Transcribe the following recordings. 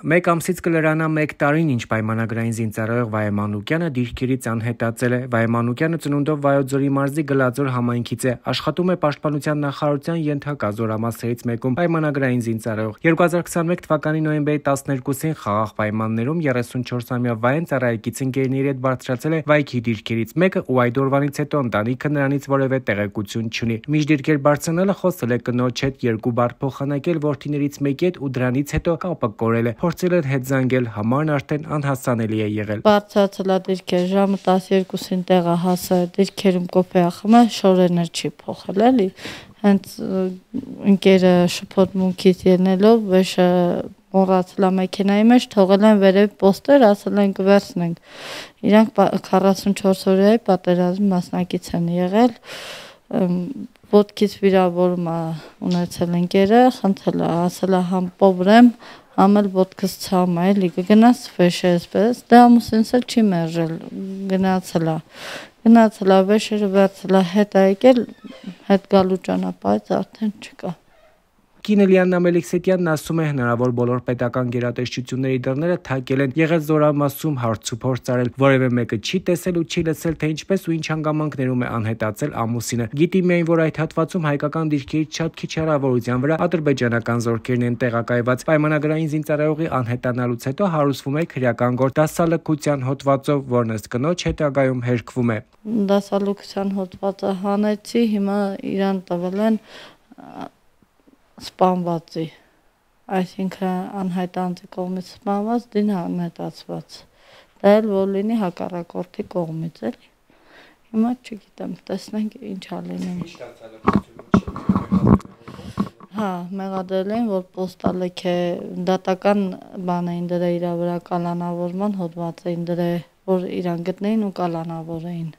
Մեկ ամսից կլրանա 1 տարին, ինչ պայմանագրային զինծառայող Վահե Մանուկյանը դիրքերից անհետացել է։ Վահե Մանուկյանը ծնունդով Վայոց Ձորի մարզի Գլաձոր համայնքից է, աշխատում է Պաշտպանության նախարարության ենթակա զորամասերից մեկում պայմանագրային զինծառայող։ 2021 թվականի նոյեմբերի 12-ին խաղաղ պայմաններում 34-ամյա Վահեն ծառայեկից ընկերների հետ բարձրացել է վայքի դիրքերից մեկը ու այդ օրվանից հետո ընտանիքը նրանից որևէ տեղեկություն չունի։ Մինչ դիրքեր բարձրանալը խոսել է կնոջ հետ, 2 բառ փոխանակել որդիներից մեկի հետ ու դրանից հետո կապը կորել է։ Փորձել էր հետ զանգել, համարն արդեն անհասանելի է եղել։ Բարձրացել է դիրքեր, ժամը 12-ին տեղը հասա, դիրքերում կոպե ախմը շորերներ չի փոխել էլի։ Հենց ընկերը շփոթմունքից ելնելով վեշը մոռացել է մեքենայի մեջ, թողել են վերև պոստեր, ասել են կվերցնենք։ Իրանք 44 օրյա պատերազմի մասնակից են եղել։ Ոտքից վիրավորում է ունեցել ընկերը, խնդրել է, ասել է համ պոբրեմ, համ էլ ոտքս ցամ է, էլի կգնաս վեշը էսպես, դա ամուսինս էլ չի մերժել, գնացել է, վեշերը վերցել է, հետ է եկել, հետ գալու ճանապարհից արդեն չկա։ Կինը Լիաննա Մելիքսետյանն ասում է, հնարավոր բոլոր պետական գերատեսչությունների դռները թակել են, եղել զորամասում հարցուփորձ արել, որևէ մեկը չի տեսել ու չի լսել, թե ինչպես ու ինչ հանգամանքներում է անհետացել ամուսինը։ Գիտի միայն, որ այդ հատվածում հայկական դիրքերից շատ քիչ հեռավորության վրա ադրբեջանական զորքերն են տեղակայված։ Պայմանագրային զինծառայողի անհետանալուց հետո հարուցվում է քրեական գործ դասալքության հոդվածով, որն ըստ կնոջ հետագայում հերքվում է։ Դասալքության հոդվածը հանեցի, հիմա իրան տվել են սպանվածի, այսինքն անհայտ անձի կողմից սպանված, դին անհետացված, դա էլ որ լինի հակառակորդի կողմից էլի, հիմա չգիտեմ, տեսնենք ինչ ալինենք։ Հա, մեղադրել էին, որ պոստալեք է, դատական բան էին դրել իրա վրա, կալանավորման հոդված էին դրել, որ իրան գտնեին ու կալանավոր էին,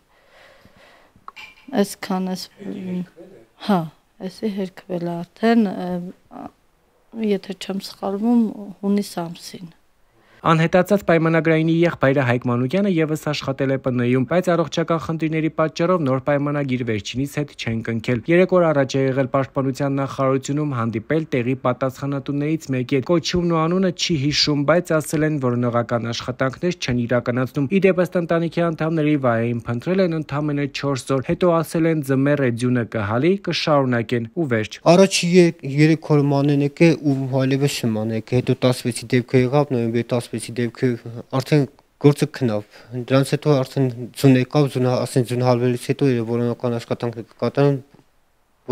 այսքան ես, հա, Էսի հերքվել է արդեն, եթե չեմ սխալվում, հունիս ամսին։ Անհետացած պայմանագրայինի եղբայրը Հայկ Մանուկյանը ևս աշխատել է ՊՆ-ում, բայց առողջական խնդիրների պատճառով նոր պայմանագիր վերջինիս հետ չեն կնքել։ 3 օր առաջ է եղել Պաշտպանության նախարարությունում հանդիպել տեղի պատասխանատուներից մեկի հետ։ Կոչումն ու անունը չի հիշում, բայց ասել են, որ նողական աշխատանքներ չեն իրականացնում։ Իդեպ ըստ ընտանիքի անդամների Վահեին փնտրել են ընդամենը 4 օր, հետո ասել են ձմեռ է ձյունը կհալի, կշարունակեն ու վերջ։ Առաջի 3 օր մանենեք է ու այլևս չմանեք, հետո 16-ի դեպքը եղավ, նոյեմբերի 16-ի դեպքը արդեն գործը քնավ։ Դրանից հետո արդեն ձուն եկավ, ասեն ձուն հալվելուց հետո որոնական աշխատանքներ կկատարեն,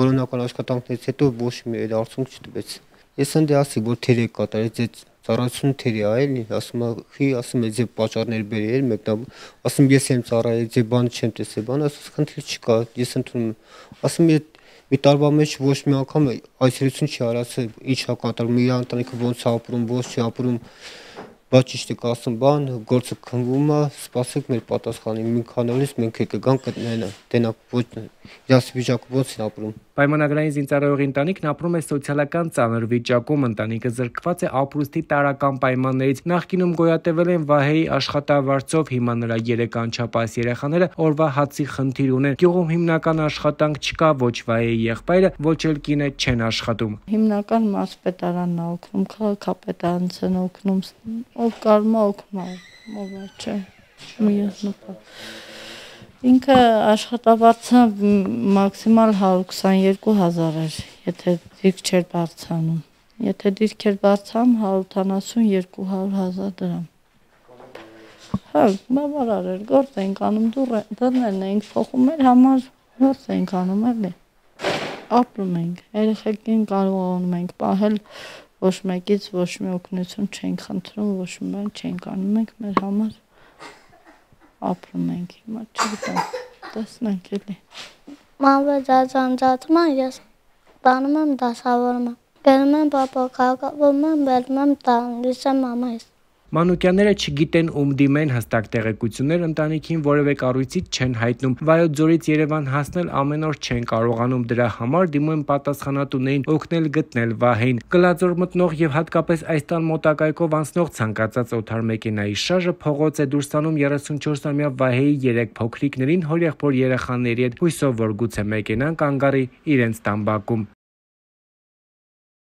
որոնական աշխատանքներից հետո ոչ մի արդյունք չտվեց։ Ես ընդ ասի, որ թերի կատարեց, այդ ծառայությունը թերի է, էլի, ասում է, ձեր պատճառներ բերի էլ մեկնա, ասում ես եմ ծառայել, ձեր բանը չեմ տեսել, բան, ասում խնդիր չկա, ես ընդունում եմ, ասում մի տարվա մեջ ոչ մի անգամ այցելություն չի արածել, ինչ է կատարում, իր ընտանիքը ոնց է ապրում, ոնց չի ապրում, բայց ճիշտ է ասում, բան, գործը քնվում է, սպասեք մեր պատասխանին, մի քանի օրից մենք կգանք կտնենք, ոչ իրաց վիճակը ոնց են ապրում։ Պայմանագրային զինծառայողի ընտանիքն ապրում է սոցիալական ծանր վիճակում, ընտանիքը զրկված է ապրուստի տարրական պայմաններից։ Նախկինում գոյատևել են Վահեի աշխատավարձով, հիմա նրա 3 անչափահաս երեխաները օրվա հացի խնդիր ունեն։ Գյուղում հիմնական աշխատանք չկա, ոչ Վահեի եղբայրը, ոչ էլ կինը չեն աշխատում։ Հիմնական մարզպետարանն է օգնում, քաղաքապետարանն է օգնում, ով կարում է օգնում, ով չէ։ Ինքը աշխատավարձը մաքսիմալ 122,000 էր, եթե դիրք չէր բարձրանում, եթե դիրք էր բարձրանում 172,000 դրամ։ Հա, բավարար էր, գործ էինք անում, դռներն էինք փոխում, մեր համար գործ էինք անում, էլի, ապրում էինք, երեխեքին կարողանում ենք պահել, ոչ մեկից ոչ մի օգնություն չենք խնդրում, ոչ մի բան չենք անում, մենք մեր համար ապրում ենք, հիմա չգիտեմ, տեսնենք էլի։ Մանվեծ ածանձացում եմ, ես տանում եմ դասավորում եմ, բերում եմ պապա քաղաքավորում եմ, բերում եմ տան, լսեմ մամայիս։ Մանուկյանները չգիտեն ում դիմեն, հստակ տեղեկություններ ընտանիքին որևէ կառույցից չեն հայտնում։ Վայոց Ձորից Երևան հասնել ամեն օր չեն կարողանում, դրա համար դիմում են պատասխանատուներին օգնել գտնել Վահեին։ Գլաձոր մտնող եւ հատկապես այս տան մոտակայքով անցնող ցանկացած օթար մեքենայի շարժը փողոց է դուրս տանում 34-ամյա Վահեի 3 փոքրիկներին հորեղբոր երեխաների հետ, հույսով որ գուցե մեքենան կանգ առի իրենց տան բակում։